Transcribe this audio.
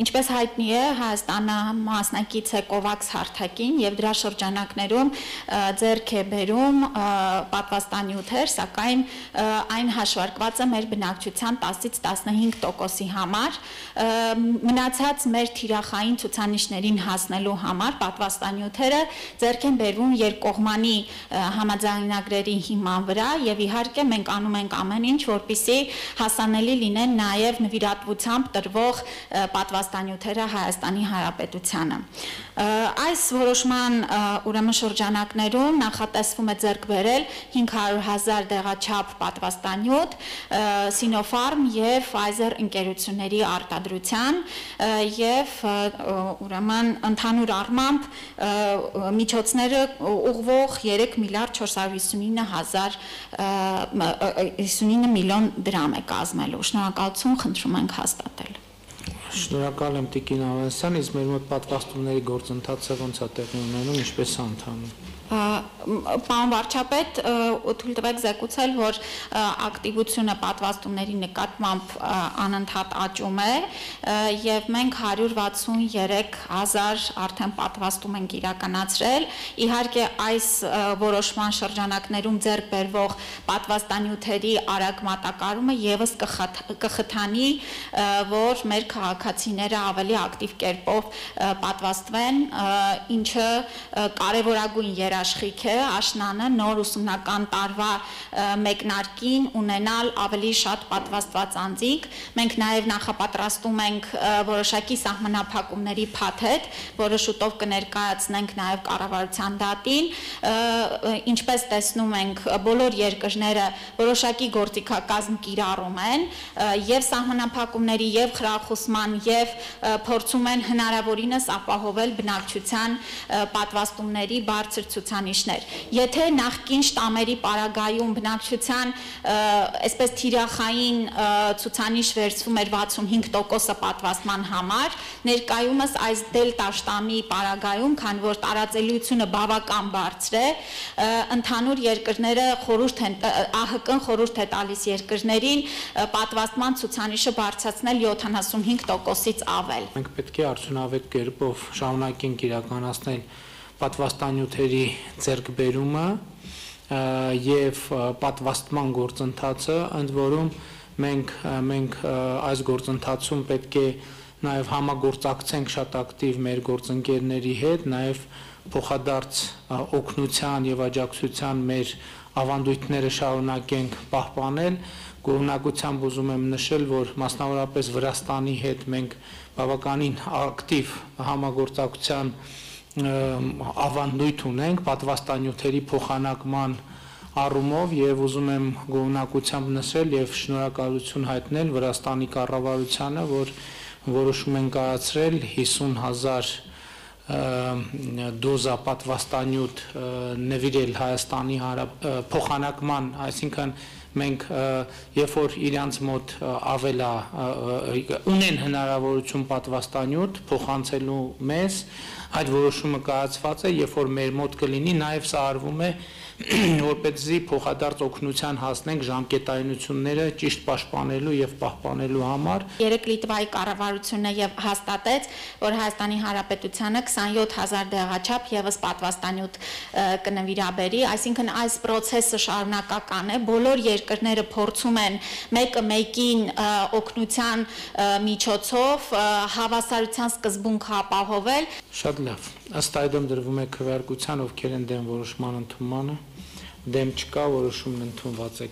Ինչպես հայտնի է, Հայաստանը մասնակից է COVAX հարթակին եւ դրա շրջանակներում ձեռք է բերում պատվաստանյութեր, սակայն այն հաշվարկված է մեր բնակչության 10-ից 15%-ի համար։ Մնացած մեր թիրախային ցուցանիշներին հասնելու համար պատվաստանյութերը ձեռք են բերվում երկկողմանի համաձայնագրերի հիման վրա եւ իհարկե մենք անում ենք ամեն ինչ, որպեսզի հասանելի լինեն նաեւ նվիրատվությամբ տրվող պատվաստանյութերը Հայաստանի Հանրապետությանը։ Այս որոշման ուրեմն շրջանակներում նախատեսվում է ձեռք բերել 500,000 դեղաչափ պատվաստանյութ Sinopharm եւ Pfizer ընկերությունների արտադրության եւ ուրեմն ընդհանուր առմամբ միջոցները ուղղվող 3 միլիարդ 459 միլիոն դրամ է կազմելու։ Շնորհակալություն, խնդրում ենք հաստատել։ Շնորհակալ եմ Տիկին Ավանեսյան, իսկ մեր մոտ պատվաստումների գործընթացը ոնց է տեղի ունենում, ինչպես է ընթանում։ Պարոն վարչապետ, թույլ տվեք զեկուցել, որ ակտիվությունը պատվաստումների նկատմամբ անընդհատ աճում է եւ մենք 163,000 արդեն պատվաստում ենք իրականացրել։ Իհարկե այս որոշման շրջանակներում ձեռք բերվող պատվաստանյութերի արագ մատակարարումը եւս կխթանի, որ մեր քաղաքացիները ավելի ակտիվ կերպով պատվաստվեն, ինչը կարևորագույն երաշխիք է աշնանը նոր ուսումնական տարվա մեկնարկին ունենալ ավելի շատ պատվաստված անձինք։ Մենք նաև նախապատրաստում ենք որոշակի սահմանափակումների փաթեթ, որը շուտով կներկայացնենք նաև կառավարության դատին։ Ինչպես տեսնում ենք, բոլոր երկրները որոշակի գործիքակազմ կիրառում են եւ սահմանափակումների եւ խրախուսման եւ փորձում են հնարավորինս ապահովել բնակչության պատվաստումների բարձր ցուցանիշներ։ Եթե նախկին շտամերի պարագայում բնակչության այսպես թիրախային ցուցանիշ վերցվում էր 65%-ը պատվաստման համար, ներկայումս այս դելտա շտամի պարագայում, քանի որ տարածելիությունը բավական բարձր է, ընդհանուր երկրները ԱՀԿ-ն խորհուրդ է տալիս երկրներին պատվաստման ցուցանիշը բարձրացնել 75%-ից ավել։ Մենք պետք է արդյունավետ կերպով շարունակենք իրականացնել պատվաստանյութերի ձեռքբերումը եւ պատվաստման գործընթացը, ընդ որում մենք այս գործընթացում պետք է նաեւ համագործակցենք շատ ակտիվ մեր գործընկերների հետ, նաեւ փոխադարձ օգնության եւ աջակցության մեր ավանդույթները շարունակենք պահպանել։ Գոհունակությամբ ուզում եմ նշել, որ մասնավորապես Վրաստանի հետ մենք բավականին ակտիվ համագործակցության ավանդույթ ունենք պատվաստանյութերի փոխանակման առումով եւ ուզում եմ գոհունակությամբ նշել եւ շնորհակալություն հայտնել Վրաստանի կառավարությանը, որ որոշում են կայացրել 50,000 դոզա պատվաստանյութ նվիրել Հայաստանի փոխանակման, այսինքն մենք երբ որ իրանց մոտ ավելա ունեն հնարավորություն պատվաստանյութ փոխանցելու մեզ, այդ որոշումը կայացված է, երբ որ մեր մոտ կլինի, նաև սա արվում է որպեսզի փոխադարձ օգնության հասնենք ժամկետայնությունները ճիշտ պաշտպանելու եւ պահպանելու համար։ Երեք Լիտվայի կառավարությունը եւ հաստատեց, որ Հայաստանի Հանրապետությանը 27,000 դեղաչափ եւս պատվաստանյութ կնվիրաբերի, այսինքն այս process-ը շարունակական է, բոլոր երկրները փորձում են մեկը մեկին օգնության միջոցով հավասարության սկզբունքը ապահովել։ Շատ լավ։ Ըստ այդմ դրվում է քվեարկության, ովքեր են դեմ որոշման ընդունմանը, դեմ չկա, որոշումն ընդունված է։